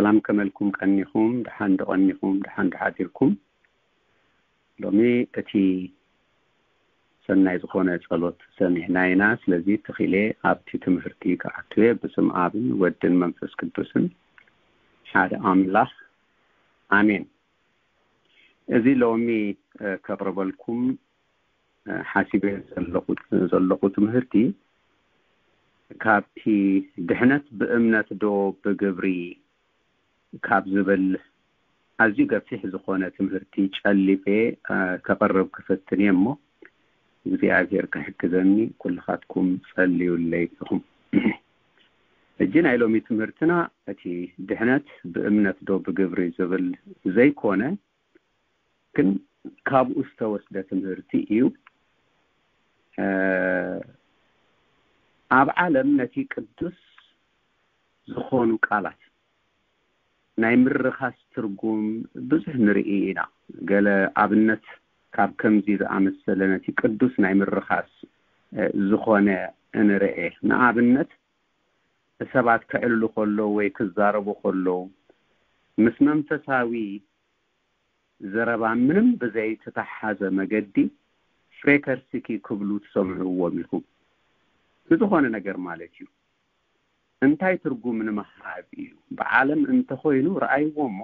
ኣም ከመልኩም ቀኒኹም፣ ደሓን ዶ ቀኒኹም፣ ደሓን ዶ ሓዲርኩም? ሎሚ እቲ ሰናይ ዝኾነ ጸሎት ሰሚዕና ኢና። ስለዚ ተኺለ ኣብቲ ትምህርቲ ክኣቱ እየ። ብስም ኣብን ወድን መንፈስ ቅዱስን ሓደ ኣምላኽ፣ ኣሜን። እዚ ሎሚ፣ እ፣ ከቕርበልኩም፣ እ፣ ሓሲበ ዘለኹ፣ ዘለኹ ትምህርቲ ካብቲ ድሕነት ብእምነት ዶ ብግብሪ ካብ ዝብል ኣዝዩ ገፊሕ ዝኾነ ትምህርቲ ጨሊፌ፣ እ፣ ከቕርብ ክፍትን እየ እሞ፣ እግዚኣብሔር ክሕግዘኒ ኩልኻትኩም ጸልዩለይ ኢኹም። ሕጂ ናይ ሎሚ ትምህርትና እቲ ድሕነት ብእምነት ዶ ብግብሪ ዝብል ዘይኮነ፣ ግን ካብኡ ዝተወስደ ትምህርቲ እዩ። እ፣ ኣብ ዓለም ነቲ ቅዱስ ዝኾኑ ቃላት ናይ ምርኻስ ትርጉም ብዙሕ ንርኢ ኢና። ገለ ኣብነት ካብ ከምዚ ዝኣመሰለ ነቲ ቅዱስ ናይ ምርኻስ፣ እ፣ ዝኾነ ንርኤ። ንኣብነት ሰባት ክዕልሉ ከለዉ ወይ ክዛረቡ ከለዉ ምስ መንፈሳዊ ዘረባ ምንም ብዘይተተሓዘ መገዲ ፍሬከርስኪ ክብሉ ትሰምዕዎም ኢኹም። ብዝኾነ ነገር ማለት እዩ። እንታይ ትርጉም ንምሃብ እዩ? ብዓለም እንተኾይኑ ረኣይዎ እሞ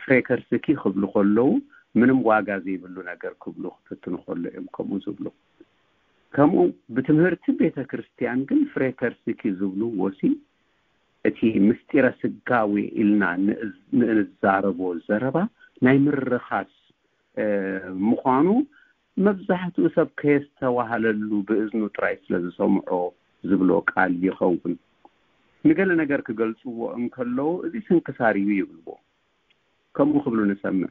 ፍሬከርስኪ ክብሉ ከለዉ ምንም ዋጋ ዘይብሉ ነገር ክብሉ ክፍትኑ ከሎ እዮም ከምኡ ዝብሉ። ከምኡ ብትምህርቲ ቤተ ክርስቲያን ግን ፍሬከርስኪ ዝብልዎ ሲ እቲ ምስጢረ ስጋዌ ኢልና ንእዝ-፣ ንእንዛረቦ ዘረባ ናይ ምርኻስ፣ እ፣ ምዃኑ መብዛሕትኡ ሰብ ከየስተዋህለሉ ብእዝኑ ጥራይ ስለ ዝሰምዖ ዝብሎ ቃል ይኸውን። ንገለ ነገር ክገልጽዎ እንከለዉ፣ "እዚ ስንክሳር እዩ" ይብልዎ። ከምኡ ክብሉ ንሰምዕ።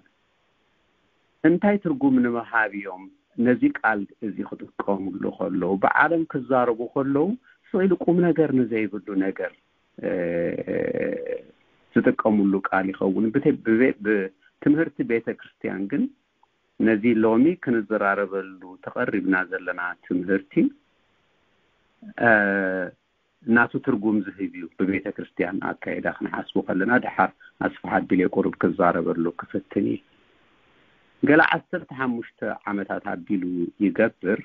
እንታይ ትርጉም ንምሃብ እዮም ነዚ ቃል እዚ ክጥቀሙሉ ከለዉ? ብዓለም ክዛረቡ ከለዉ፣ ስቕ ኢሉ ቁም ነገር ንዘይብሉ ነገር፣ እ፣ ዝጥቀሙሉ ቃል ይኸውን። ብተ-፣ ብቤ-፣ ብትምህርቲ ቤተ ክርስቲያን ግን ነዚ ሎሚ ክንዘራረበሉ ተቐሪብና ዘለና ትምህርቲ፣ እ፣ ናቱ ትርጉም ዝህብ እዩ። ብቤተ ክርስቲያን ኣካይዳ ክንሓስቡ ከለና፣ ደሓር ኣስፍሓ ኣቢለ ቁሩብ ክዛረበሉ ክፍትን እየ። ገለ ዓሰርተ ሓሙሽተ ዓመታት ኣቢሉ ይገብር፣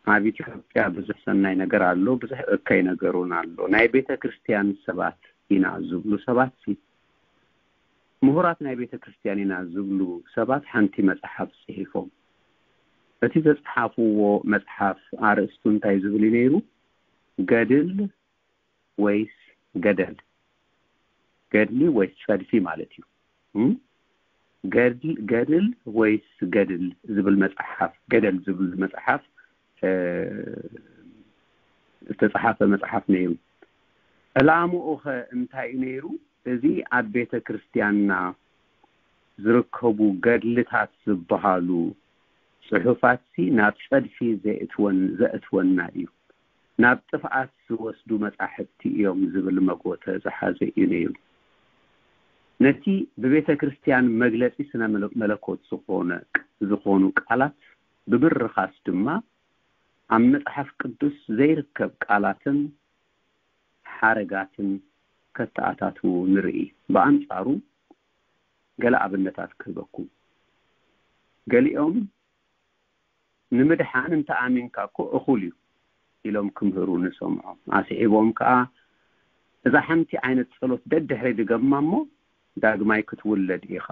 ኣብ ኢትዮጵያ ብዙሕ ሰናይ ነገር ኣሎ፣ ብዙሕ እከይ ነገር እውን ኣሎ። ናይ ቤተ ክርስቲያን ሰባት ኢና ዝብሉ ሰባት ሲ፣ ምሁራት ናይ ቤተ ክርስቲያን ኢና ዝብሉ ሰባት ሓንቲ መጽሓፍ ጽሒፎም። እቲ ዘጽሓፍዎ መጽሓፍ ኣርእስቱ እንታይ ዝብል እዩ ነይሩ? ገድል ወይስ ገደል? ገድሊ ወይስ ጸድፊ ማለት እዩ። እም? ገድል፣ ገድል ወይስ ገድል ዝብል መጽሓፍ፣ ገደል ዝብል መጽሓፍ፣ እ፣ ዝተጻሓፈ መጽሓፍ ነይሩ። ዕላምኡ ኸ እንታይ እዩ ነይሩ? እዚ ኣብ ቤተ ክርስቲያንና ዝርከቡ ገድልታት ዝበሃሉ ጽሑፋትሲ ናብ ጸድፊ ዘእትወን-፣ ዘእትወና እዩ፣ ናብ ጥፍኣት ዝወስዱ መጻሕፍቲ እዮም ዝብል መጎተ ዝሓዘ እዩ ነይሩ። ነቲ ብቤተ ክርስቲያን መግለጺ ስነ መለ-፣ መለኮት ዝኾነ፣ ዝኾኑ ቃላት ብምርኻስ ድማ ኣብ መጽሓፍ ቅዱስ ዘይርከብ ቃላትን ሓረጋትን ከተኣታትዉ ንርኢ። ብኣንጻሩ ገለ ኣብነታት ክህበኩም። ገሊኦም "ንምድሓን እንተ ኣሚንካ እኮ እኹል እዩ" ኢሎም ክምህሩ ንሰምዖም። ኣስዒቦም ከኣ "እዛ ሓንቲ ዓይነት ጸሎት ደድሕሪ ድገማ እሞ ዳግማይ ክትውለድ ኢኻ"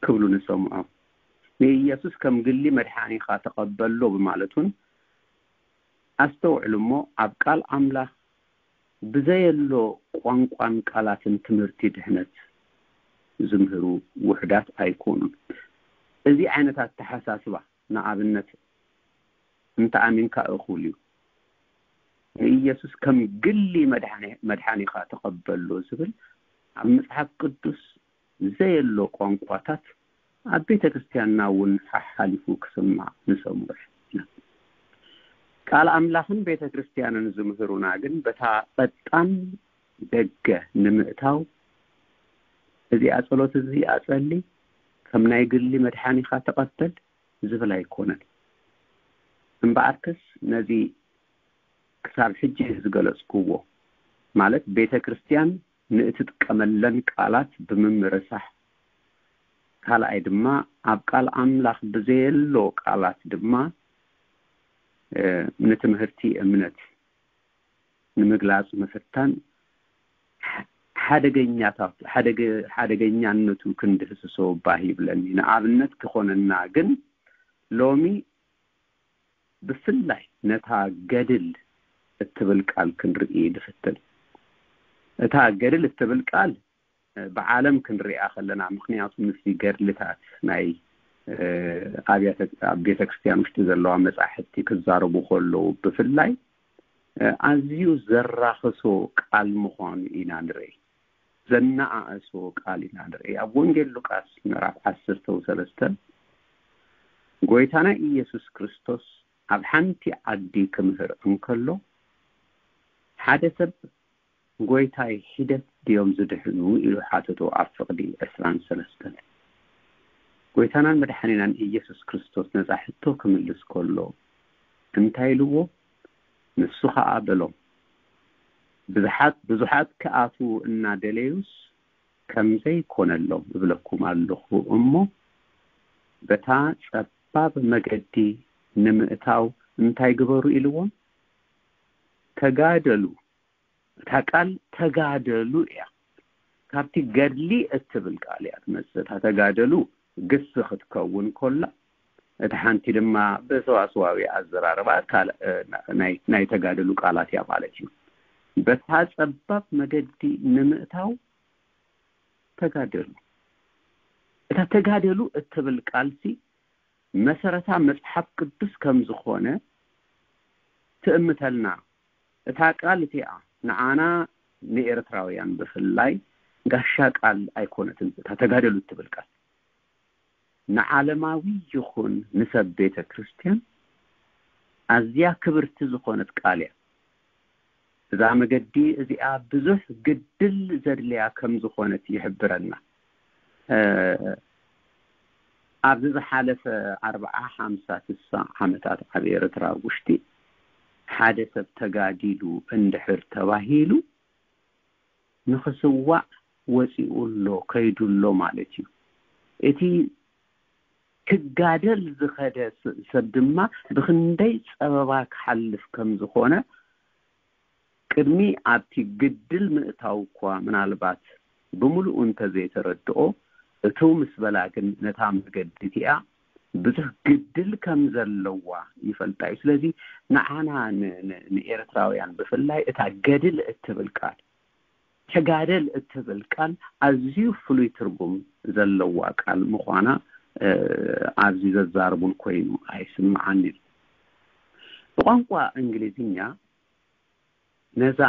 ክብሉ ንሰምዖም። ንኢየሱስ ከም ግሊ መድሓኒኻ ተቐበሎ ብማለት እውን ኣስተውዕሉ እሞ ኣብ ቃል ኣምላኽ ብዘየሎ ቋንቋን ቃላትን ትምህርቲ ድሕነት ዝምህሩ ውሑዳት ኣይኮኑን። እዚ ዓይነት ኣተሓሳስባ፣ ንኣብነት፣ "እንተ ኣሚንካ እኹል እዩ፣ ንኢየሱስ ከም ግሊ መድሓኒ-፣ መድሓኒኻ ተቐበሎ" ዝብል ኣብ መጽሓፍ ቅዱስ ዘየሎ ቋንቋታት ኣብ ቤተ ክርስቲያንና እውን ሓሓሊፉ ክስማዕ ንሰምዖ ኢና። ቃል ኣምላኽን ቤተ ክርስቲያንን ዝምህሩና ግን በታ ቀጣን ደገ ንምእታው፣ "እዚኣ ጸሎት እዚኣ ጸሊ፣ ከም ናይ ግሊ መድሓኒኻ ተቐበል" ዝብል ኣይኮነን። እምበኣርከስ ነዚ ክሳብ ሕጂ ዝገለጽክዎ ማለት ቤተ ክርስቲያን ንእትጥቀመለን ቃላት ብምምርሳሕ፣ ካልኣይ ድማ ኣብ ቃል ኣምላኽ ብዘየሎ ቃላት ድማ ንትምህርቲ እምነት ንምግላጽ ምፍታን ሓደገኛታት ሓደገኛነቱ ክንድህስሶ ባህ ይብለኒ። ንኣብነት ክኾነና ግን ሎሚ ብፍላይ ነታ ገድል እትብል ቃል ክንርኢ ንፍትን። እታ ገድል እትብል ቃል ብዓለም ክንሪኣ ከለና፣ ምኽንያቱ ምስዚ ገድልታት ናይ ኣብያተ ኣብ ቤተ ክርስቲያን ውሽጢ ዘለዋ መጻሕፍቲ ክዛረቡ ከለዉ ብፍላይ ኣዝዩ ዘራኽሶ ቃል ምዃኑ ኢና ንርኢ። ዘነኣእሶ ቃል ኢና ንርኢ። ኣብ ወንጌል ሉቃስ ምዕራፍ ዓሰርተ ሰለስተ ጎይታና ኢየሱስ ክርስቶስ ኣብ ሓንቲ ዓዲ ክምህር እንከሎ ሓደ ሰብ ጎይታይ ሒደት ድዮም ዝድሕኑ ኢሉ ሓተቶ ኣብ ፍቕዲ ዕስራን ሰለስተን። ጎይታናን መድሓኒናን ኢየሱስ ክርስቶስ ነዛ ሕቶ ክምልስ ከሎ እንታይ ኢልዎ? ንሱ ኸኣ በሎም፣ ብዙሓት ብዙሓት ክኣትዉ እናደለዩስ ከምዘይኮነሎም እብለኩም ኣለኹ እሞ በታ ጸባብ መገዲ ንምእታው እንታይ ግበሩ ኢልዎም? ተጋደሉ። እታ ቃል ተጋደሉ እያ። ካብቲ ገድሊ እትብል ቃል እያ ትመጽእ። እታ ተጋደሉ ግስ ክትከውን ኮላ፣ እቲ ሓንቲ ድማ ብሰዋስዋዊ ኣዘራርባ ናይ ተጋደሉ ቃላት እያ ማለት እዩ። በታ ጸባብ መገዲ ንምእታው ተጋደሉ። እታ ተጋደሉ እትብል ቃልሲ መሰረታ መጽሓፍ ቅዱስ ከም ዝኾነ ትእምተልና። እታ ቃል እቲኣ ንዓና ንኤርትራውያን ብፍላይ ጋሻ ቃል ኣይኮነትን። እታ ተጋደሉ እትብል ቃል ንዓለማዊ ይኹን ንሰብ ቤተ ክርስቲያን ኣዝያ ክብርቲ ዝኾነት ቃል እያ። እዛ መገዲ እዚኣ ብዙሕ ግድል ዘድልያ ከም ዝኾነት ይሕብረና። ኣብዚ ዝሓለፈ ኣርብዓ፣ ሓምሳ፣ ስሳ ዓመታት ኣብ ኤርትራ ውሽጢ ሓደ ሰብ ተጋዲሉ እንድሕር ተባሂሉ ንኽስዋእ ወፂኡ ኣሎ፣ ከይዱ ኣሎ ማለት እዩ። እቲ ክጋደል ዝኸደ ሰብ ድማ ብኽንደይ ፀበባ ክሓልፍ ከም ዝኾነ ቅድሚ ኣብቲ ግድል ምእታው እኳ ምናልባት ብምሉኡ እንተዘይተረድኦ፣ እቱ ምስ በላ ግን ነታ መገዲ እቲኣ ብዙሕ ግድል ከም ዘለዋ ይፈልጣ እዩ። ስለዚ ንዓና ንኤርትራውያን ብፍላይ እታ ገድል እትብል ቃል፣ ተጋደል እትብል ቃል ኣዝዩ ፍሉይ ትርጉም ዘለዋ ቃል ምዃና ኣብዚ ዘዛርቡን ኮይኑ ኣይስምዓን እዩ። ብቋንቋ እንግሊዝኛ ነዛ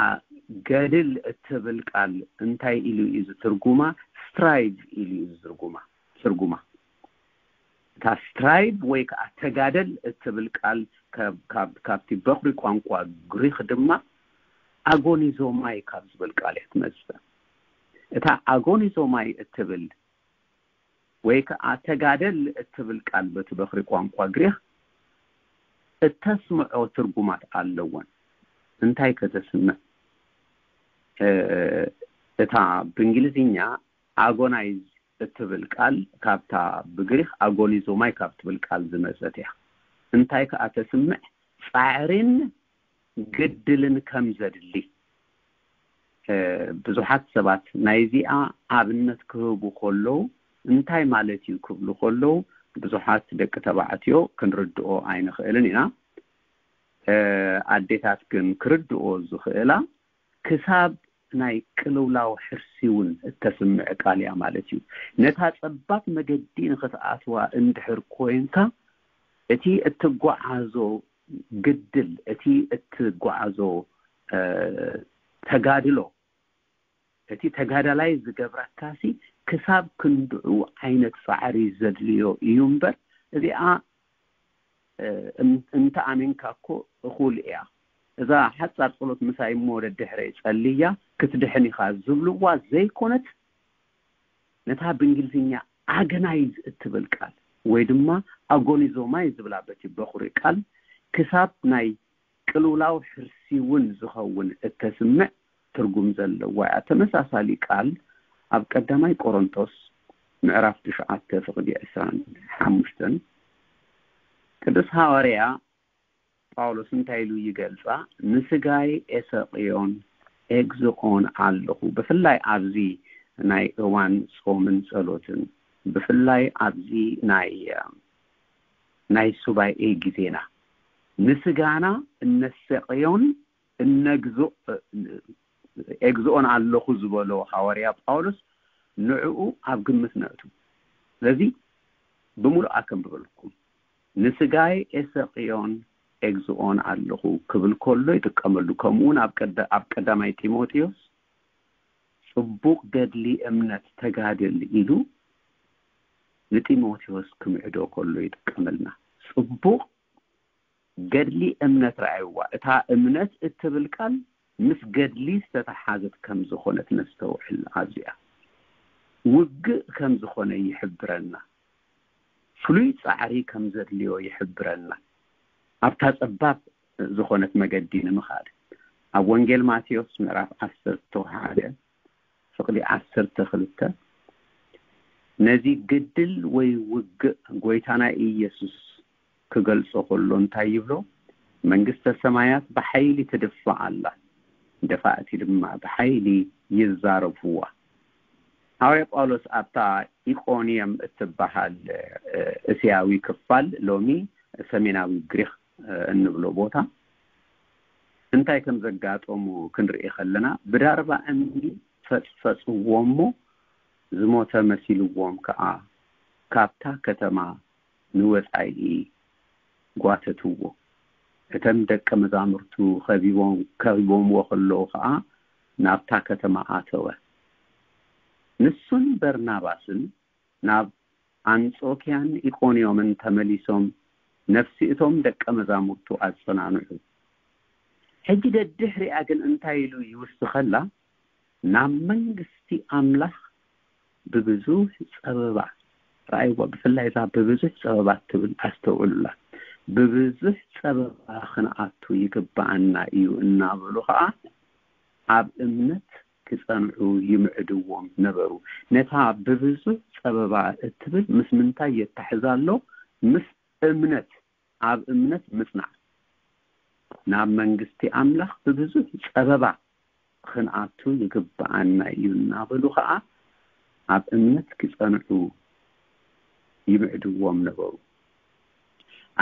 ገድል እትብል ቃል እንታይ ኢሉ እዩ ዝትርጉማ? ስትራይቭ ኢሉ እዩ ዝትርጉማ ትርጉማ። እታ ስትራይቭ ወይ ከዓ ተጋደል እትብል ቃል ካብቲ በኩሪ ቋንቋ ግሪክ ድማ ኣጎኒዞማይ ካብ ዝብል ቃል እያ ትመፅእ። እታ ኣጎኒዞማይ እትብል ወይ ከዓ ተጋደል እትብል ቃል በቲ በኩሪ ቋንቋ ግሪክ እተስምዖ ትርጉማት ኣለወን። እንታይ ከተስምዕ? እታ ብእንግሊዝኛ ኣጎናይዝ እትብል ቃል ካብታ ብግሪክ ኣጎኒዞማይ ካብ ትብል ቃል ዝመጸት እያ። እንታይ ከኣ ተስምዕ? ጻዕሪን ግድልን ከም ዘድሊ። ብዙሓት ሰባት ናይዚኣ ኣብነት ክህቡ ከለዉ እንታይ ማለት እዩ ክብሉ ከለዉ ብዙሓት ደቂ ተባዕትዮ ክንርድኦ ኣይንኽእልን ኢና። ኣዴታት ግን ክርድኦ ዝኽእላ ክሳብ ናይ ቅልውላው ሕርሲ እውን እተስምዕ ቃል እያ ማለት እዩ። ነታ ጸባብ መገዲ ንኽትኣትዋ እንድሕር ኮይንካ እቲ እትጓዓዞ ግድል፣ እቲ እትጓዓዞ ተጋድሎ፣ እቲ ተጋዳላይ ዝገብረካሲ ክሳብ ክንድዑ ዓይነት ጻዕሪ ዘድልዮ እዩ እምበር እዚኣ እንተ ኣሚንካ እኮ እኹል እያ። እዛ ሓጻር ጸሎት ምሳይ እሞ ደድሕረይ ጸልያ ክትድሕን ኢኻ ዝብልዋ ዘይኮነት፣ ነታ ብእንግሊዝኛ ኣገናይዝ እትብል ቃል ወይ ድማ ኣጎኒዞማይ ዝብላ በቲ በኹሪ ቃል ክሳብ ናይ ቅልውላው ሕርሲ እውን ዝኸውን እተስምዕ ትርጉም ዘለዋ እያ። ተመሳሳሊ ቃል ኣብ ቀዳማይ ቆሮንቶስ ምዕራፍ ትሽዓተ ፍቕዲ ዕስራን ሓሙሽተን ቅዱስ ሃዋርያ ጳውሎስ እንታይ ኢሉ ይገልጻ? "ንስጋይ ኤሰቕዮን ኤግዝኦን ኣለኹ፣ ብፍላይ ኣብዚ ናይ እዋን ጾምን ጸሎትን፣ ብፍላይ ኣብዚ ናይ ናይ ሱባኤ ግዜና ንስጋና እነሰቕዮን እነግዝኦ ኤግዝኦን ኣለኹ" ዝበሎ ሃዋርያ ጳውሎስ ንዕኡ ኣብ ግምት ነእቱ። ስለዚ ብምሉእ ኣከንብበልኩም፣ "ንስጋይ ኤሰቅዮን ኤግዝኦን ኣለኹ" ክብል ከሎ ይጥቀመሉ። ከምኡ እውን ኣብ ቀዳ-፣ ኣብ ቀዳማይ ጢሞቴዎስ "ጽቡቕ ገድሊ እምነት ተጋድል" ኢሉ ንጢሞቴዎስ ክምዕዶ ከሎ ይጥቀመልና። ጽቡቕ ገድሊ እምነት ረኣይዋ። እታ እምነት እትብል ቃል ምስ ገድሊ ዝተተሓዘት ከም ዝኾነት ነስተውዕል። ኣብዚኣ ውግእ ከም ዝኾነ ይሕብረና። ፍሉይ ጻዕሪ ከም ዘድልዮ ይሕብረና። ኣብታ ጸባብ ዝኾነት መገዲ ንምኻድ ኣብ ወንጌል ማቴዎስ ምዕራፍ ዓሰርተ ሓደ ፍቕዲ ዓሰርተ ክልተ ነዚ ግድል ወይ ውግእ ጎይታና ኢየሱስ ክገልጾ ከሎ እንታይ ይብሎ? "መንግስተ ሰማያት ብሓይሊ ትድፋእ ኣላ፣ ደፋእቲ ድማ ብሓይሊ ይዛረፉዋ።" ሃዋርያ ጳውሎስ ኣብታ ኢቆንየም እትበሃል፣ እ፣ እስያዊ ክፋል፣ ሎሚ ሰሜናዊ ግሪኽ፣ እ፣ እንብሎ ቦታ እንታይ ከም ዘጋጠሙ ክንርኢ ከለና፣ ብዳርባ እምኒ ፈጽፈጽዎ እሞ ዝሞተ መሲልዎም ከኣ ካብታ ከተማ ንወጻኢ ጓተትዎ። እተን ደቀ መዛሙርቱ ከቢቦም-፣ ከቢቦምዎ ከለዉ ከኣ ናብታ ከተማ ኣተወ። ንሱን በርናባስን ናብ ኣንጾክያን ኢቆንዮምን ተመሊሶም ነፍሲ እቶም ደቀ መዛሙርቱ ኣጸናንዑ። ሕጂ ደድሕሪኣ ግን እንታይ ኢሉ ይውስኸላ? "ናብ መንግስቲ ኣምላኽ ብብዙሕ ጸበባ"፣ ረኣይዎ፣ ብፍላይ እዛ "ብብዙሕ ጸበባ" ትብል ኣስተውዕሉላ። "ብብዙሕ ጸበባ ክንኣቱ ይግብኣና እዩ" እናበሉ ኸኣ ኣብ እምነት ክጸንዑ ይምዕድዎም ነበሩ። ነታ "ብብዙሕ ጸበባ" እትብል ምስ ምንታይ የተሕዛ ኣሎ? ምስ እምነት፣ ኣብ እምነት ምጽናዕ። "ናብ መንግስቲ ኣምላኽ ብብዙሕ ጸበባ ክንኣቱ ይግብኣና እዩ" እናበሉ ኸኣ ኣብ እምነት ክጸንዑ ይምዕድዎም ነበሩ።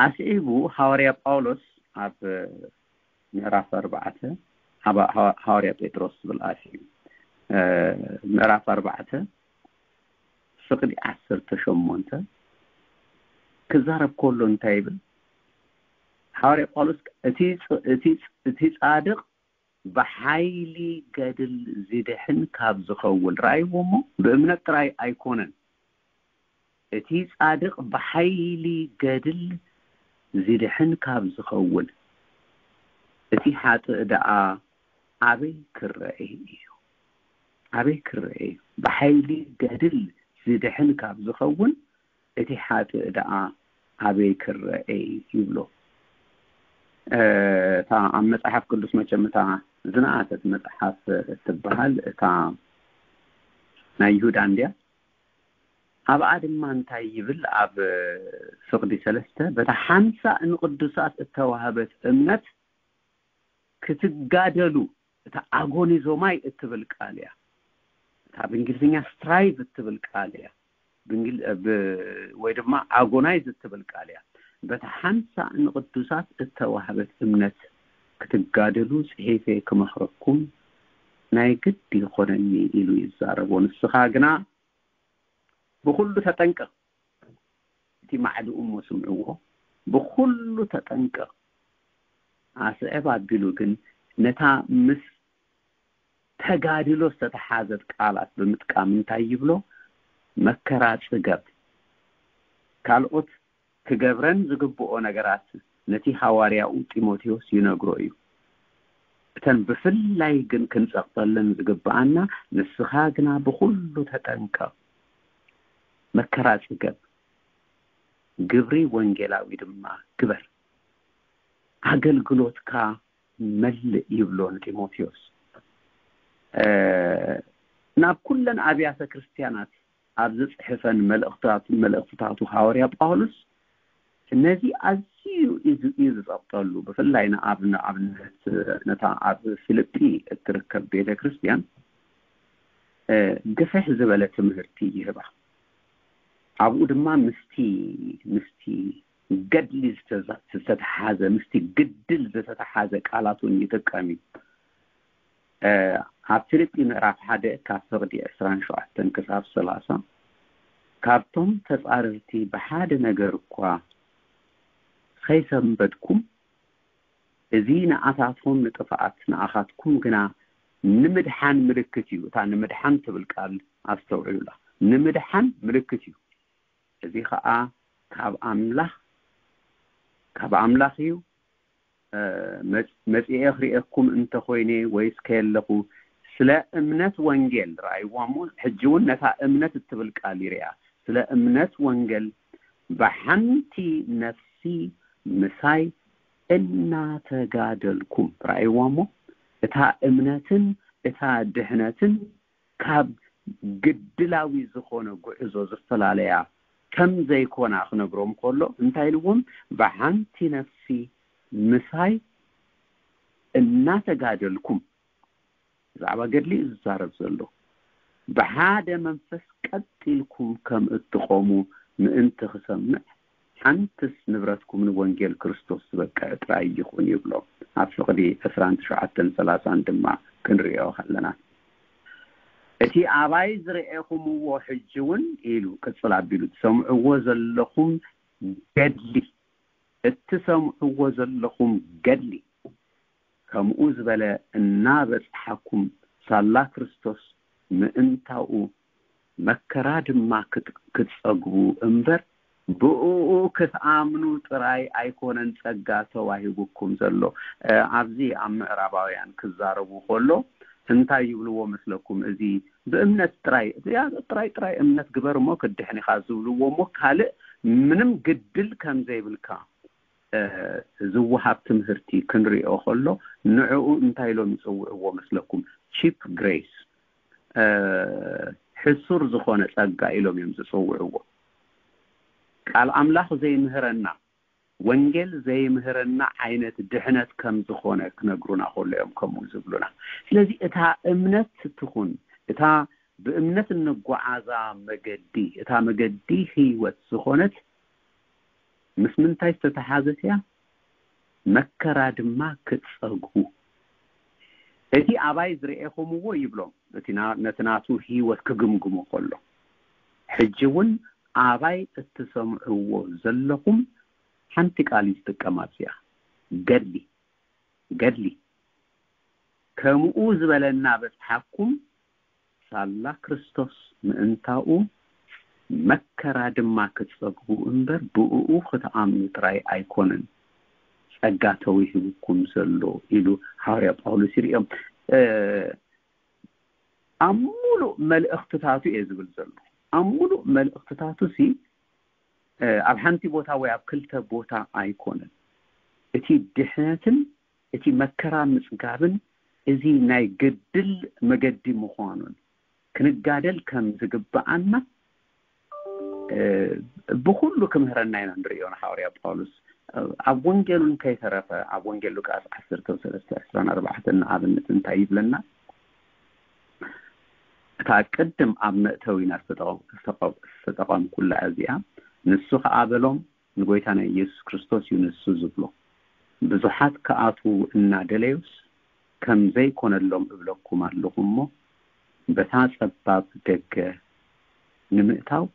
ኣስዒቡ ሃዋርያ ጳውሎስ ኣብ ምዕራፍ ኣርባዕተ፣ ሃባ-፣ ሃዋ-፣ ሃዋርያ ጴጥሮስ ዝብል ኣስዒቡ፣ እ፣ ምዕራፍ ኣርባዕተ ፍቕዲ ዓሰርተ ሸሞንተ ክዛረብ ከሎ እንታይ ይብል? ሃዋርያ ጳውሎስ፣ "እቲ ጽ-፣ እቲ ጽ-፣ እቲ ጻድቕ ብሓይሊ ገድል ዝድሕን ካብ ዝኸውን"፣ ረኣይዎ እሞ፣ ብእምነት ጥራይ ኣይኮነን፣ "እቲ ጻድቕ ብሓይሊ ገድል ዝድሕን ካብ ዝኸውን፣ እቲ ሓጥእ ደኣ ኣበይ ክረአ እዩ? ኣበይ ክረአ እዩ? ብሓይሊ ገድል ዝድሕን ካብ ዝኸውን፣ እቲ ሓጥእ ደኣ ኣበይ ክረአ?" ይብሎ። እ፣ እታ ኣብ መጽሓፍ ቅዱስ መቸም እታ ዝነኣሰት መጽሓፍ እትበሃል እታ ናይ ይሁዳ እንድያ። ኣብኣ ድማ እንታይ ይብል? ኣብ ፍቕዲ ሰለስተ፣ "በታ ሓንሳእ ንቅዱሳት እተዋህበት እምነት ክትጋደሉ"፣ እታ ኣጎኒዞማይ እትብል ቃል እያ። እታ ብእንግሊዝኛ ስትራይቭ እትብል ቃል እያ። ብእንግል-፣ ብ-፣ ወይ ድማ ኣጎናይዝ እትብል ቃል እያ። "በታ ሓንሳእ ንቅዱሳት እተዋህበት እምነት ክትጋደሉ ጽሒፈ ክመኽረኩም ናይ ግድ ይኾነኒ" ኢሉ ይዛረቦ። ንስኻ ግና ብኹሉ ተጠንቀቕ። እቲ ማዕድኡ እሞ ስምዕዎ፣ ብኹሉ ተጠንቀቕ። ኣስዕብ ኣቢሉ ግን ነታ ምስ ተጋድሎ ዝተተሓዘት ቃላት ብምጥቃም እንታይ ይብሎ? "መከራ ጽገብ። ካልኦት ክገብረን ዝግብኦ ነገራት ነቲ ሃዋርያኡ ጢሞቴዎስ ይነግሮ እዩ። እተን ብፍላይ ግን ክንጸቕጠለን ዝግብኣና፣ ንስኻ ግና ብኹሉ ተጠንቀቕ፣ መከራ ጽገብ፣ ግብሪ ወንጌላዊ ድማ ግበር፣ ኣገልግሎትካ መልእ" ይብሎ ንጢሞቴዎስ። ናብ ኩለን ኣብያተ ክርስትያናት ኣብ ዝጽሕፈን መልእኽትታቱ ሃዋርያ ጳውሎስ ነዚ ኣዝዩ እዩ ዝጸቕጠሉ። ብፍላይ ንኣብነት ነታ ኣብ ፊልጲ እትርከብ ቤተ ክርስትያን ግፍሕ ዝበለ ትምህርቲ ይህባ። ኣብኡ ድማ ምስቲ ምስቲ ገድሊ ዝተተሓዘ ምስቲ ግድል ዝተተሓዘ ቃላት እውን ይጥቀም እዩ። ኣብ ፊልጲ ምዕራፍ ሓደ ካብ ፍቕዲ ዕስራን ሸውዓተን ክሳብ ሰላሳ፣ ካብቶም ተጻረርቲ ብሓደ ነገር እኳ ከይሰንበድኩም፣ እዚ ንኣታቶም ንጥፍኣት ንኣኻትኩም ግና ንምድሓን ምልክት እዩ። እታ ንምድሓን ትብል ቃል ኣስተውዕሉላ። ንምድሓን ምልክት እዩ። እዚ ኸኣ ካብ ኣምላኽ ካብ ኣምላኽ እዩ። መጽ- መጺኤ ክርእየኩም እንተኾይነ ወይስ ከየለኹ ስለ እምነት ወንጌል፣ ረኣይዋ እሞ፣ ሕጂ እውን ነታ እምነት እትብል ቃል ይርኣ። ስለ እምነት ወንጌል ብሓንቲ ነፍሲ ምሳይ እናተጋደልኩም፣ ረኣይዋ እሞ፣ እታ እምነትን እታ ድሕነትን ካብ ግድላዊ ዝኾነ ጉዕዞ ዝፈላለያ ከም ዘይኮና ክነግሮም ከሎ፣ እንታይ ኢልዎም? ብሓንቲ ነፍሲ ምሳይ እናተጋደልኩም፣ ብዛዕባ ገድሊ እዩ ዝዛረብ ዘሎ። ብሓደ መንፈስ ቀጥ ኢልኩም ከም እትቆሙ ምእንቲ ክሰምዕ፣ ሓንትስ ንብረትኩም ንወንጌል ክርስቶስ ዝበቅዕ ጥራይ ይኹን ይብሎ። ኣብ ፍቕዲ ዕስራን ትሽዓተን ሰላሳን ድማ ክንሪኦ ከለና፣ እቲ ኣባይ ዝረኤኹምዎ ሕጂ እውን ኢሉ ቅጽል ኣቢሉ፣ ትሰምዕዎ ዘለኹም ገድሊ እትሰምዕዎ ዘለኹም ገድሊ ከምኡ ዝበለ እናበጽሓኩም፣ ሳላ ክርስቶስ ምእንታኡ መከራ ድማ ክት- ክትጸግቡ እምበር፣ ብእኡ ክትኣምኑ ጥራይ ኣይኮነን ጸጋ ተዋሂቡኩም ዘሎ። እ፣ ኣብዚ ኣብ ምዕራባውያን ክዛረቡ ከሎ እንታይ ይብልዎ መስለኩም? እዚ ብእምነት ጥራይ፣ ያ ጥራይ ጥራይ እምነት ግበር እሞ ክድሕን ኢኻ ዝብልዎ እሞ፣ ካልእ ምንም ግድል ከም ዘይብልካ እ፣ ዝወሃብ ትምህርቲ ክንሪኦ ከሎ፣ ንዕኡ እንታይ ኢሎም ይጽውዕዎ መስለኩም? ቺፕ ግሬስ፣ እ፣ ሕሱር ዝኾነ ጸጋ ኢሎም እዮም ዝጽውዕዎ። ቃል ኣምላኽ ዘይምህረና፣ ወንጌል ዘይምህረና ዓይነት ድሕነት ከም ዝኾነ ክነግሩና ከሎ እዮም ከምኡ ዝብሉና። ስለዚ እታ እምነት ትኹን፣ እታ ብእምነት እንጓዓዛ መገዲ፣ እታ መገዲ ህይወት ዝኾነት፣ ምስ ምንታይ ዝተተሓዘት እያ? መከራ ድማ ክትጸግቡ። እቲ ኣባይ ዝረኤኹምዎ ይብሎም፣ እቲ ና- ነቲ ናቱ ህይወት ክግምግሞ ከሎ፣ ሕጂ እውን ኣባይ እትሰምዕዎ ዘለኹም ሓንቲ ቃል እዩ ዝጥቀም ኣብዚኣ፣ ገድሊ፣ ገድሊ። ከምኡ ዝበለ እናበጽሓኩም፣ ሳላ ክርስቶስ ምእንታኡ መከራ ድማ ክትጸግቡ እምበር፣ ብእኡ ክትኣምኑ ጥራይ ኣይኮነን ጸጋ ተዋሂቡኩም ዘሎ ኢሉ ሃዋርያ ጳውሎስ ይርእዮም። እ፣ ኣብ ሙሉእ መልእኽትታቱ እየ ዝብል ዘሎ። ኣብ ሙሉእ መልእኽትታቱ ሲ፣ እ፣ ኣብ ሓንቲ ቦታ ወይ ኣብ ክልተ ቦታ ኣይኮነን። እቲ ድሕነትን እቲ መከራ ምጽጋብን እዚ ናይ ግድል መገዲ ምዃኑን ክንጋደል ከም ዝግብኣና፣ እ፣ ብኹሉ ክምህረና ኢና ንርእዮ ንሃዋርያ ጳውሎስ። እ፣ ኣብ ወንጌሉን ከይተረፈ፣ ኣብ ወንጌል ሉቃስ ዓሰርተ ሰለስተ ዕስራን ኣርባዕተን ንኣብነት እንታይ ይብለና? እታ ቅድም ኣብ መእተዊና ዝተጠቐ-፣ ዝተጠቐምኩላ እዚኣ፣ ንሱ ኸኣ በሎም፣ ንጎይታና ኢየሱስ ክርስቶስ እዩ ንሱ ዝብሎ። ብዙሓት ክኣትዉ እናደለዩስ፣ ከም ዘይኮነሎም እብለኩም ኣለኹ እሞ፣ በታ ጸባብ ደገ ንምእታው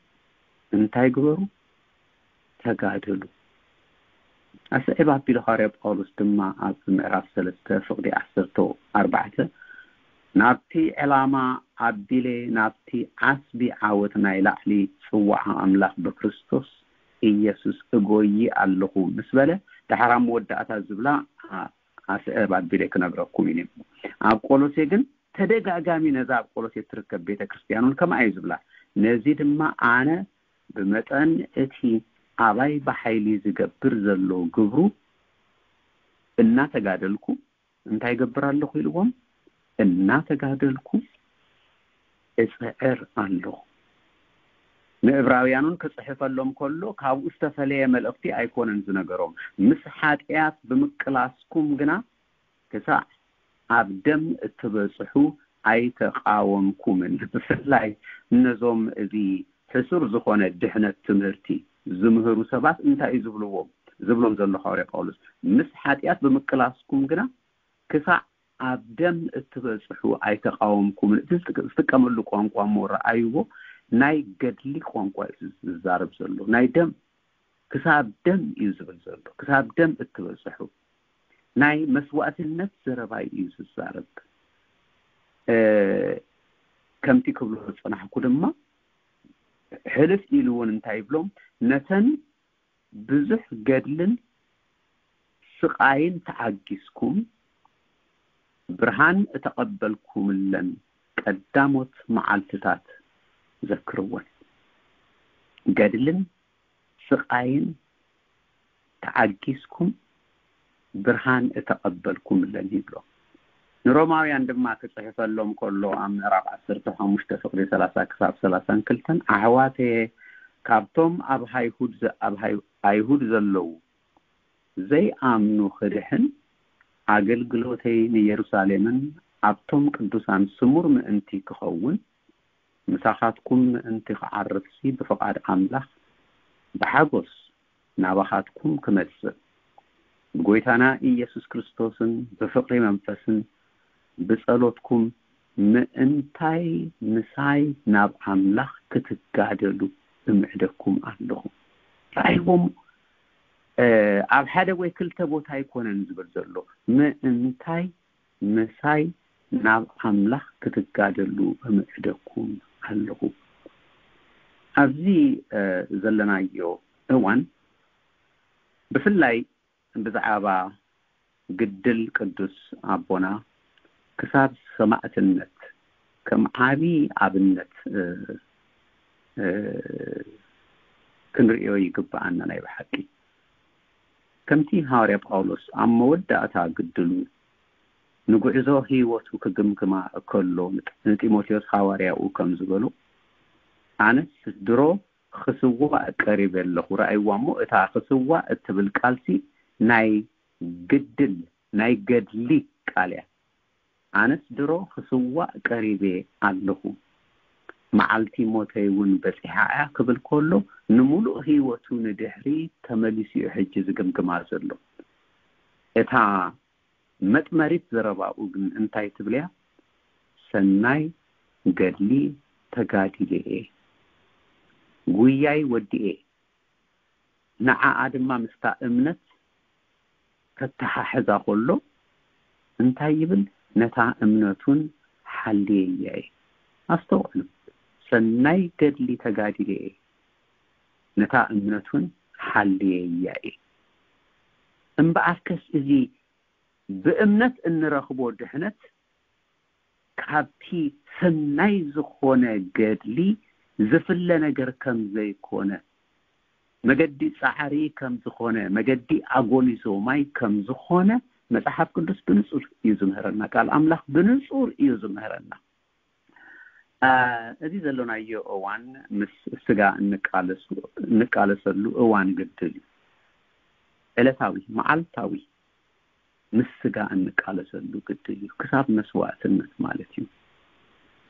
እንታይ ግበሩ? ተጋደሉ። ኣስዕብ ኣቢሉ ሃዋርያ ጳውሎስ ድማ ኣብ ምዕራፍ ሰለስተ ፍቕዲ ዓሰርተ ኣርባዕተ፣ ናብቲ ዕላማ ኣቢለ ናብቲ ዓስቢ ዓወት ናይ ላዕሊ ጽዋዓ ኣምላኽ ብክርስቶስ ኢየሱስ እጎዪ ኣለኹ ምስ በለ፣ ደሓር ኣብ መወዳእታ ዝብላ ኣ-፣ ኣስዕብ ኣቢለ ክነግረኩም ኢነ። ኣብ ቆሎሴ ግን ተደጋጋሚ ነዛ ኣብ ቆሎሴ እትርከብ ቤተ ክርስትያን እውን ከምኣ እዩ ዝብላ። ነዚ ድማ ኣነ ብመጠን እቲ ኣባይ ብሓይሊ ዝገብር ዘሎ ግብሩ እናተጋደልኩ እንታይ ይገብር ኣለኹ ኢልዎም? እናተጋደልኩ እጽዕር ኣለኹ። ንእብራውያኑን ክጽሕፈሎም ከሎ ካብኡ ዝተፈለየ መልእኽቲ ኣይኮነን ዝነገሮም። ምስ ሓጢኣት ብምቅላስኩም ግና ክሳዕ ኣብ ደም እትበጽሑ ኣይተቓወምኩምን። ብፍላይ ነዞም እዚ ሕሱር ዝኾነ ድሕነት ትምህርቲ ዝምህሩ ሰባት እንታይ እዩ ዝብልዎም? ዝብሎም ዘሎ ሃዋርያ ጳውሎስ፣ ምስ ሓጢኣት ብምቅላስኩም ግና ክሳዕ ኣብ ደም እትበጽሑ ኣይተቓወምኩምን። እቲ ዝጥቀመሉ ቋንቋ እሞ ረኣይዎ፣ ናይ ገድሊ ቋንቋ እዩ ዝዛረብ ዘሎ። ናይ ደም፣ ክሳብ ደም እዩ ዝብል ዘሎ። ክሳብ ደም እትበጽሑ ናይ መስዋእትነት ዘረባ እዩ ዝዛረብ። ከምቲ ክብሎ ዝጸናሕኩ ድማ፣ ሕልፍ ኢሉ እውን እንታይ ይብሎም? ነተን ብዙሕ ገድልን ስቓይን ተዓጊስኩም ብርሃን እተቐበልኩምለን ቀዳሞት መዓልትታት ዘክርወን። ገድልን ስቓይን ተዓጊስኩም ብርሃን እተቐበልኩምለን ይብሎ። ንሮማውያን ድማ ክጽሕፈሎም ከሎ ኣብ ምዕራፍ ዓሰርተ ሓሙሽተ ፍቕዲ ሰላሳ ክሳብ ሰላሳን ክልተን፣ ኣሕዋተየ፣ ካብቶም ኣብ ኣይሁድ ዘ-፣ ኣብ ኣይ-፣ ኣይሁድ ዘለዉ ዘይኣምኑ ክድሕን፣ ኣገልግሎተይ ንየሩሳሌምን ኣብቶም ቅዱሳን ስሙር ምእንቲ ክኸውን፣ ምሳኻትኩም ምእንቲ ክዓርፍሲ ብፍቓድ ኣምላኽ ብሓጎስ ናባኻትኩም ክመጽእ፣ ብጎይታና ኢየሱስ ክርስቶስን ብፍቕሪ መንፈስን ብጸሎትኩም ምእንታይ ምሳይ ናብ ኣምላኽ ክትጋደሉ እምዕደኩም ኣለኹ። ረኣይዎም፣ እ፣ ኣብ ሓደ ወይ ክልተ ቦታ ኣይኮነን ዝብል ዘሎ። ምእንታይ ምሳይ ናብ ኣምላኽ ክትጋደሉ እምዕደኩም ኣለኹ። ኣብዚ፣ እ፣ ዘለናዮ እዋን ብፍላይ ብዛዕባ ግድል ቅዱስ ኣቦና ክሳብ ሰማእትነት ከም ዓቢ ኣብነት፣ እ፣ እ፣ ክንርእዮ ይግብኣና ናይ ብሓቂ። ከምቲ ሃዋርያ ጳውሎስ ኣብ መወዳእታ ግድሉ ንጉዕዞ ህይወቱ ክግምግማ እከሎ ንጢሞቴዎስ ሃዋርያኡ ከም ዝበሎ፣ ኣነስ ድሮ ክስዋእ ቀሪበ ኣለኹ። ረኣይዋ እሞ፣ እታ ክስዋእ እትብል ቃልሲ ናይ ግድል፣ ናይ ገድሊ ቃል እያ። ኣነስ ድሮ ክስዋእ ቀሪበ ኣለኹ፣ መዓልቲ ሞተይ እውን በጺሓ እያ ክብል ከሎ፣ ንምሉእ ህይወቱ ንድሕሪ ተመሊሱ እዩ ሕጂ ዝግምግማ ዘሎ። እታ መጥመሪት ዘረባኡ ግን እንታይ ትብል እያ? ሰናይ ገድሊ ተጋዲለ እየ፣ ጉያይ ወዲኤ። ንዓኣ ድማ ምስታ እምነት ከተሓሕዛ ከሎ እንታይ ይብል? ነታ እምነቱን ሓልየያ እየ። ኣስተውዕሉ፣ ሰናይ ገድሊ ተጋዲለ እየ፣ ነታ እምነቱን ሓልየያ እየ። እምበኣርከስ እዚ ብእምነት እንረኽቦ ድሕነት ካብቲ ሰናይ ዝኾነ ገድሊ ዝፍለ ነገር ከም ዘይኮነ፣ መገዲ ጻዕሪ ከም ዝኾነ፣ መገዲ ኣጎኒዞማይ ከም ዝኾነ መጽሓፍ ቅዱስ ብንጹር እዩ ዝምህረና። ቃል ኣምላኽ ብንጹር እዩ ዝምህረና። አ፣ እዚ ዘሎናዮ እዋን ምስ ስጋ እንቃለሱ-፣ እንቃለሰሉ እዋን ግድል እዩ። ዕለታዊ፣ መዓልታዊ ምስ ስጋ እንቃለሰሉ ግድል እዩ፣ ክሳብ መስዋእትነት ማለት እዩ።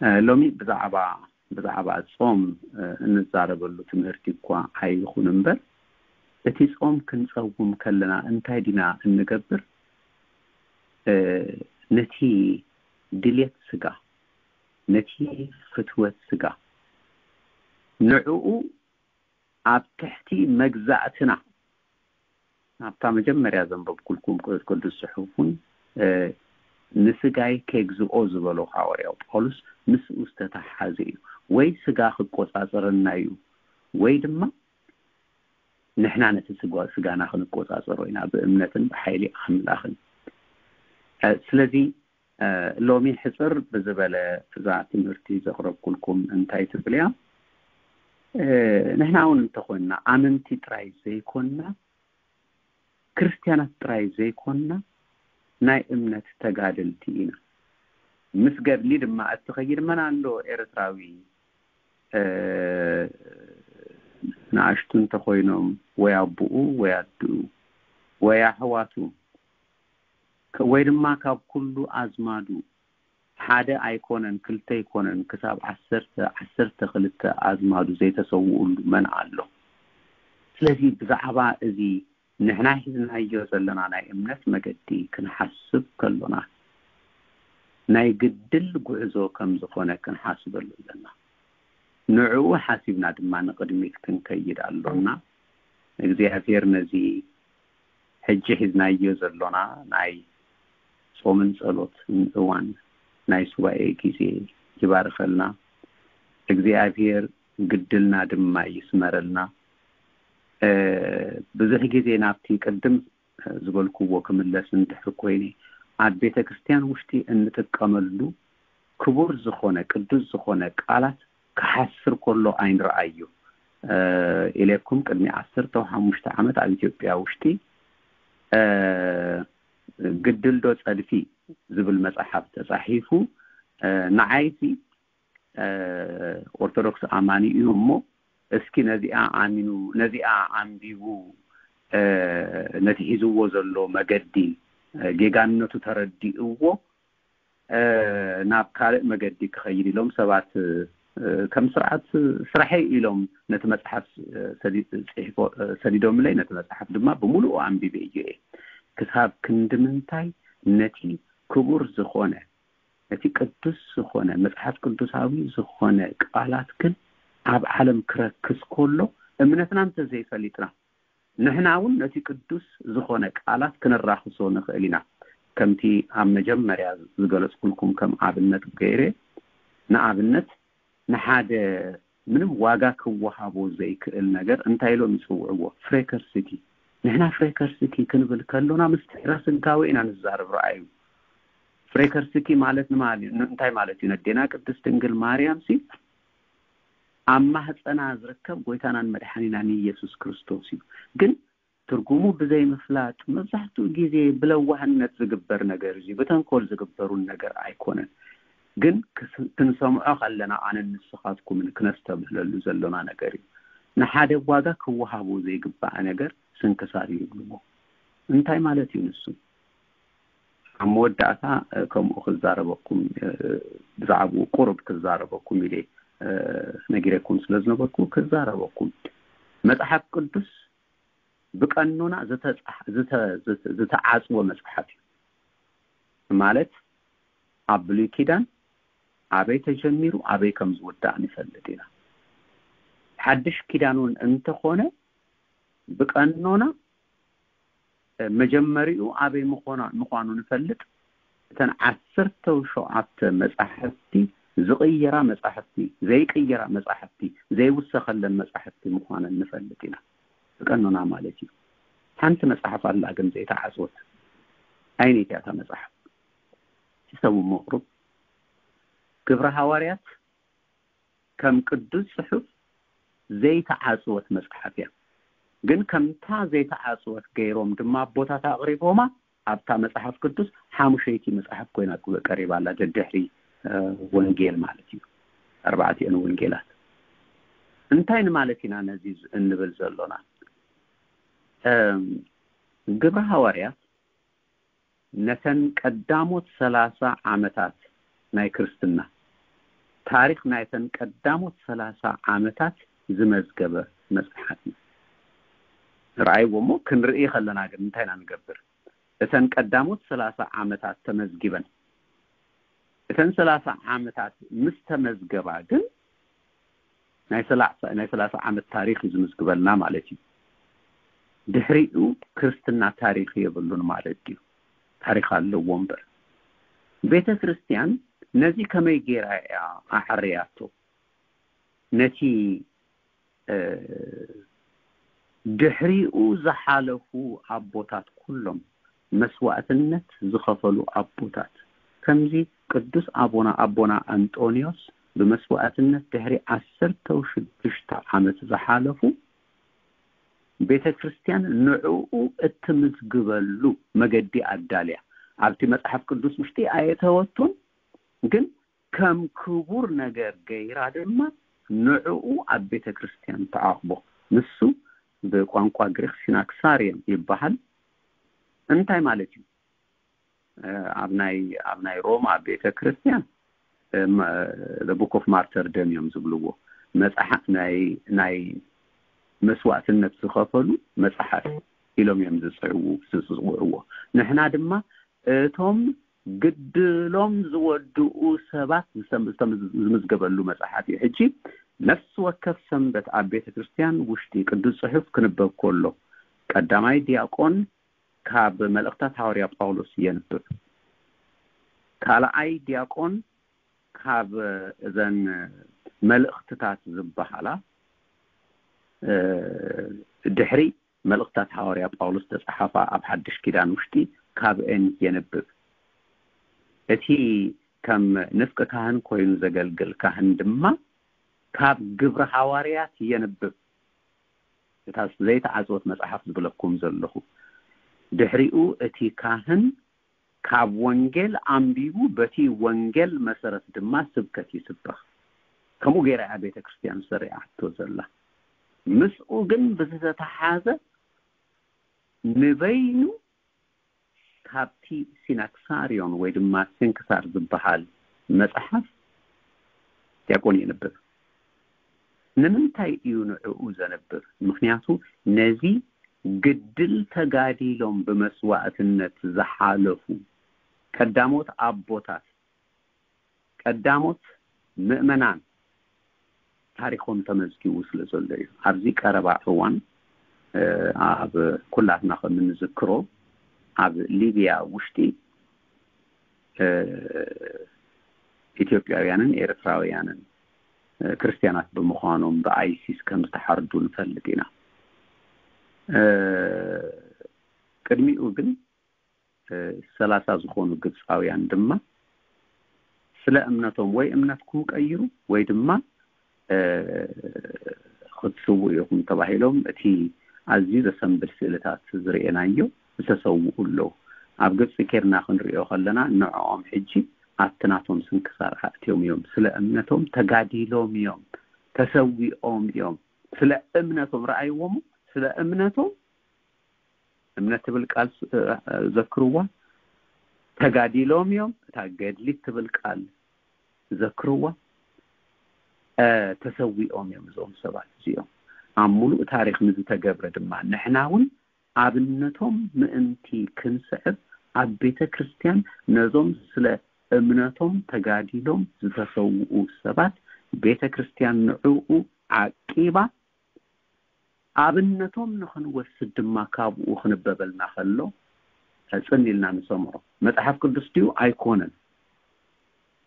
እ፣ ሎሚ ብዛዕባ፣ ብዛዕባ ጾም፣ እ፣ እንዛረበሉ ትምህርቲ እኳ ኣይኹን እምበር፣ እቲ ጾም ክንጸውም ከለና እንታይ ዲና እንገብር? እ፣ ነቲ ድሌት ስጋ፣ ነቲ ፍትወት ስጋ፣ ንዕኡ ኣብ ትሕቲ መግዛእትና፣ ኣብታ መጀመርያ ዘንበብኩልኩም ቅዱስ ጽሑፍ እውን፣ እ፣ "ንስጋይ ኬግዝኦ" ዝበሎ ሃዋርያው ጳውሎስ ምስኡ ዝተተሓሓዘ እዩ። ወይ ስጋ ክቆጻጸረና እዩ፣ ወይ ድማ ንሕና ነቲ ስጋ-፣ ስጋና ክንቆጻጸሮ ኢና ብእምነትን ብሓይሊ ኣምላኽን። እ፣ ስለዚ፣ እ፣ ሎሚ ሕጽር ብዝበለ እዛ ትምህርቲ ዘቕረብኩልኩም እንታይ ትብል እያ? እ፣ ንሕና እውን እንተኾንና ኣመንቲ ጥራይ ዘይኮንና፣ ክርስትያናት ጥራይ ዘይኮንና፣ ናይ እምነት ተጋደልቲ ኢና። ምስ ገድሊ ድማ እትኸይድ መን ኣሎ ኤርትራዊ? ንኣሽቱ እንተኾይኖም ወይ ኣቦኡ ወይ ኣድኡ ወይ ኣሕዋቱ ወይ ድማ ካብ ኩሉ ኣዝማዱ ሓደ ኣይኮነን ክልተ ኣይኮነን ክሳብ ዓሰርተ ዓሰርተ ክልተ ኣዝማዱ ዘይተሰውኡሉ መን ኣሎ? ስለዚ ብዛዕባ እዚ ንሕና ሒዝናዮ ዘለና ናይ እምነት መገዲ ክንሓስብ ከሎና ናይ ግድል ጉዕዞ ከም ዝኾነ ክንሓስበሉ ኣለና። ንዕኡ ሓሲብና ድማ ንቕድሚት ክንከይድ ኣሎና። እግዚኣብሔር ነዚ ሕጂ ሒዝናዮ ዘሎና ናይ ጾምን ጸሎትን እዋን ናይ ሱባኤ ግዜ ይባርኸልና። እግዚኣብሔር ግድልና ድማ ይስመረልና። ብዙሕ ግዜ ናብቲ ቅድም ዝበልክዎ ክምለስ እንድሕር ኮይነ ኣብ ቤተ ክርስቲያን ውሽጢ እንጥቀመሉ ክቡር ዝኾነ ቅዱስ ዝኾነ ቃላት ክሓስር ከሎ ኣይንረኣዩ ኢለኩም ቅድሚ ዓሰርተ ሓሙሽተ ዓመት ኣብ ኢትዮጵያ ውሽጢ ግድልዶ ጸድፊ ዝብል መጽሓፍ ተጻሒፉ ንዓይሲ ኦርቶዶክስ ኣማኒ እዩ እሞ እስኪ ነዚኣ ኣሚኑ ነዚኣ ኣንቢቡ ነቲ ሒዝዎ ዘሎ መገዲ ጌጋነቱ ተረዲእዎ ናብ ካልእ መገዲ ክኸይድ ኢሎም ሰባት ከም ስርዓት ስራሐይ ኢሎም ነቲ መፅሓፍ ሰዲዶምለይ ነቲ መፅሓፍ ድማ ብምሉኡ ኣንቢበ እዩ እየ ክሳብ ክንዲ ምንታይ ነቲ ክቡር ዝኾነ ነቲ ቅዱስ ዝኾነ መፅሓፍ ቅዱሳዊ ዝኾነ ቃላት ግን ኣብ ዓለም ክረክስ ከሎ እምነትና እንተዘይፈሊጥና ንሕና እውን ነቲ ቅዱስ ዝኾነ ቃላት ክንራኽሶ ንኽእል ኢና። ከምቲ ኣብ መጀመርያ ዝገለጽኩልኩም ከም ኣብነት ገይረ ንኣብነት ንሓደ ምንም ዋጋ ክወሃቦ ዘይክእል ነገር እንታይ ኢሎም ይጽውዕዎ? ፍሬከርስኪ። ንሕና ፍሬከርስኪ ክንብል ከሎና ምስ ትሕረ ስጋዊ ኢና ንዛረብ። ረኣዩ። ፍሬከርስኪ ማለት ንማል እንታይ ማለት እዩ? ነዴና ቅድስት ድንግል ማርያም ሲ ኣብ ማህፀና ዝርከብ ጎይታናን መድሓኒናን ኢየሱስ ክርስቶስ እዩ። ግን ትርጉሙ ብዘይ ምፍላጥ መብዛሕትኡ ግዜ ብለዋህነት ዝግበር ነገር እዩ። ብተንኮል ዝግበሩን ነገር ኣይኮነን። ግን ክንሰምዖ ከለና ኣነን ንስኻትኩምን ክነስተብህለሉ ዘሎና ነገር እዩ። ንሓደ ዋጋ ክወሃቦ ዘይግባእ ነገር ስንክሳር ይብልዎ። እንታይ ማለት እዩ ንሱ? ኣብ መወዳእታ ከምኡ ክዛረበኩም ብዛዕባኡ ቁሩብ ክዛረበኩም ኢለ ነጊረኩም ስለ ዝነበርኩ ክዛረበኩም። መጽሓፍ ቅዱስ ብቀኖና ዝተዓጽወ መጽሓፍ እዩ። ማለት ኣብ ብሉይ ኪዳን ኣበይ ተጀሚሩ ኣበይ ከም ዝውዳእ ንፈልጥ ኢና። ሓድሽ ኪዳን እውን እንተኾነ ብቀኖና መጀመሪኡ ኣበይ ምዃኑ ንፈልጥ። እተን ዓሰርተ ሸውዓተ መጻሕፍቲ ዝቕየራ መጻሕፍቲ፣ ዘይቅየራ መጻሕፍቲ፣ ዘይውሰኸለን መጻሕፍቲ ምዃነን ንፈልጥ ኢና። ብቀኖና ማለት እዩ። ሓንቲ መጽሓፍ ኣላ ግን ዘይተዓጽወት። ኣየነይቲ እያ እታ መጽሓፍ? እቲ ሰብ እሞ ቁሩብ ግብረ ሃዋርያት ከም ቅዱስ ጽሑፍ ዘይተዓጽወት መጽሓፍ እያ። ግን ከምታ ዘይተዓጽወት ገይሮም ድማ ኣቦታት ኣቕሪቦማ ኣብታ መጽሓፍ ቅዱስ ሓሙሸይቲ መጽሓፍ ኮይና ቀሪባ ኣላ። ደድሕሪ ወንጌል ማለት እዩ። ኣርባዕቲኦን ወንጌላት። እንታይ ንማለት ኢና ነዚ እንብል ዘሎና? ግብረ ሃዋርያት ነተን ቀዳሞት ሰላሳ ዓመታት ናይ ክርስትና ታሪኽ ናይተን ቀዳሞት ሰላሳ ዓመታት ዝመዝገበ መጽሓፍ እዩ። ረኣይዎ እሞ ክንርኢ ከለና ግን እንታይ ኢና ንገብር? እተን ቀዳሞት ሰላሳ ዓመታት ተመዝጊበን እተን ሰላሳ ዓመታት ምስ ተመዝገባ ግን ናይ ሰላሳ ናይ ሰላሳ ዓመት ታሪኽ እዩ ዝምዝግበልና ማለት እዩ። ድሕሪኡ ክርስትና ታሪኽ የብሉን ማለት እዩ። ታሪኽ ኣለዎ እምበር ቤተ ክርስቲያን ነዚ ከመይ ገይራ እያ ኣዕርያቶ? ነቲ ድሕሪኡ ዝሓለፉ ኣቦታት ኩሎም መስዋእትነት ዝኸፈሉ ኣቦታት ከምዚ ቅዱስ ኣቦና ኣቦና ኣንጦንዮስ ብመስዋእትነት ድሕሪ ዓሰርተ ሽዱሽተ ዓመት ዝሓለፉ ቤተ ክርስቲያን ንዕኡ እትምዝግበሉ መገዲ ኣዳልያ ኣብቲ መጽሓፍ ቅዱስ ውሽጢ ኣየተወቱን ግን ከም ክቡር ነገር ገይራ ድማ ንዕኡ ኣብ ቤተ ክርስቲያን ተዓቕቦ። ንሱ ብቋንቋ ግሪክ ሲናክሳሪየም ይበሃል። እንታይ ማለት እዩ? ኣብ ናይ ኣብ ናይ ሮማ ቤተ ክርስቲያን፣ ቡክ ኦፍ ማርተር ደም እዮም ዝብልዎ። መጽሓፍ ናይ ናይ መስዋዕትነት ዝኸፈሉ መጽሓፍ ኢሎም እዮም ዝጽዕዉ ዝጽውዕዎ። ንሕና ድማ እቶም ግድሎም ዝወድኡ ሰባት ዝምዝገበሉ መጽሓፍ እዩ። ሕጂ ነፍሲ ወከፍ ሰንበት ኣብ ቤተ ክርስቲያን ውሽጢ ቅዱስ ጽሑፍ ክንበብ ከሎ ቀዳማይ ዲያቆን ካብ መልእኽታት ሃዋርያ ጳውሎስ የንብብ። ካልኣይ ዲያቆን ካብ እዘን መልእኽትታት ዝበሃላ ድሕሪ መልእኽታት ሃዋርያ ጳውሎስ ተጻሓፋ ኣብ ሓድሽ ኪዳን ውሽጢ ካብአን የንብብ። እቲ ከም ንፍቂ ካህን ኮይኑ ዘገልግል ካህን ድማ ካብ ግብሪ ሃዋርያት የንብብ። እታ ዘይተዓጽወት መጽሓፍ ዝብለኩም ዘለኹ። ድሕሪኡ እቲ ካህን ካብ ወንጌል ኣንቢቡ በቲ ወንጌል መሰረት ድማ ስብከት ይስበኽ። ከምኡ ገይራ እያ ቤተ ክርስቲያን ሰሪዓቶ ዘላ። ምስኡ ግን ብዝተተሓዘ ንበይኑ ካብቲ ሲናክሳሪዮን ወይ ድማ ስንክሳር ዝበሃል መጽሓፍ ዲያቆን የንብብ። ንምንታይ እዩ ንዕኡ ዘንብብ? ምክንያቱ ነዚ ግድል ተጋዲሎም ብመስዋዕትነት ዝሓለፉ ቀዳሞት ኣቦታት፣ ቀዳሞት ምእመናን ታሪኾም ተመዝጊቡ ስለ ዘሎ እዩ። ኣብዚ ቀረባ እዋን ኣብ ኩላትና ከም እንዝክሮ ኣብ ሊብያ ውሽጢ ኢትዮጵያውያንን ኤርትራውያንን ክርስትያናት ብምዃኖም ብኣይሲስ ከም ዝተሓርዱ ንፈልጥ ኢና። ቅድሚኡ ግን ሰላሳ ዝኾኑ ግብፃውያን ድማ ስለ እምነቶም ወይ እምነትኩም ቀይሩ ወይ ድማ ክትስውኡ ኢኹም ተባሂሎም እቲ ኣዝዩ ዘሰንብድ ስእልታት ዝርኤናዮ ዝተሰውኡ ኣለዉ። ኣብ ግብፂ ኬርና ክንሪኦ ከለና ንዕኦም ሕጂ ኣብቲ ናቶም ስንክሳር ኣእትዮም እዮም። ስለ እምነቶም ተጋዲሎም እዮም፣ ተሰዊኦም እዮም። ስለ እምነቶም ረኣይዎሞ፣ ስለ እምነቶም እምነት ትብል ቃል ዘክርዋ፣ ተጋዲሎም እዮም። እታ ገድሊት ትብል ቃል ዘክርዋ፣ ተሰዊኦም እዮም እዞም ሰባት እዚኦም። ኣብ ሙሉእ ታሪኽ ንዝተገብረ ድማ ንሕና እውን ኣብነቶም ምእንቲ ክንስዕብ ኣብ ቤተ ክርስቲያን ነዞም ስለ እምነቶም ተጋዲሎም ዝተሰውኡ ሰባት ቤተ ክርስቲያን ንዕኡ ዓቂባ ኣብነቶም ንኽንወስድ ድማ ካብኡ ክንበበልና ከሎ ሕጽን ኢልና ንሰምዖ። መጽሓፍ ቅዱስ ድዩ? ኣይኮነን።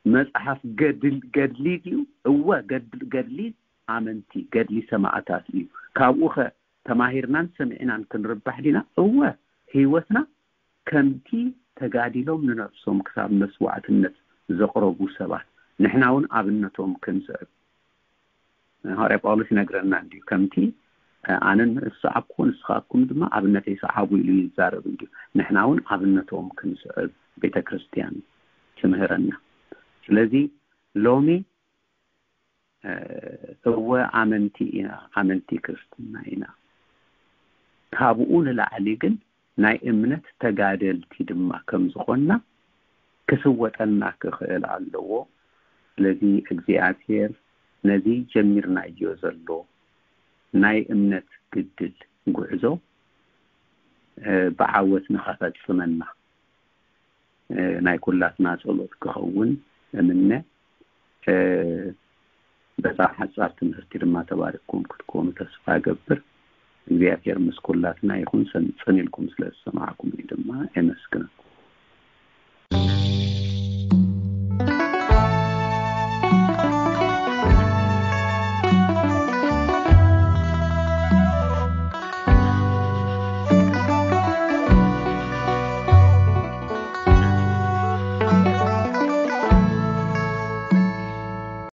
መጽሓፍ ገድሊ ድዩ? እወ፣ ገድሊ ኣመንቲ፣ ገድሊ ሰማዕታት እዩ። ካብኡ ኸ ተማሂርናን ሰሚዕናን ክንርባሕ ዲና? እወ፣ ህይወትና ከምቲ ተጋዲሎም ንነብሶም ክሳብ መስዋዕትነት ዘቕረቡ ሰባት ንሕና እውን ኣብነቶም ክንስዕብ ሃዋርያ ጳውሎስ ይነግረና እንድዩ። ከምቲ ኣነ ዝሰዓብኩ ንስኻትኩም ድማ ኣብነተይ ሰዓቡ ኢሉ ይዛረብ እንድዩ። ንሕና እውን ኣብነቶም ክንስዕብ ቤተ ክርስቲያን ትምህረና። ስለዚ ሎሚ እወ ኣመንቲ ኢና፣ ኣመንቲ ክርስትና ኢና። ካብኡ ንላዕሊ ግን ናይ እምነት ተጋደልቲ ድማ ከም ዝኾንና ክስወጠና ክኽእል ኣለዎ። ስለዚ እግዚኣብሔር ነዚ ጀሚርናዮ ዘሎ ናይ እምነት ግድል ጉዕዞ ብዓወት ንኸፈጽመና ናይ ኩላትና ጸሎት ክኸውን እምነ። በዛ ሓጻር ትምህርቲ ድማ ተባሪኽኩም ክትኮኑ ተስፋ እገብር። እግዚኣብሔር ምስ ኩላትና ይኹን። ሰንጽን ኢልኩም ስለ ዝሰማዕኩምኒ ድማ የመስግነኩም።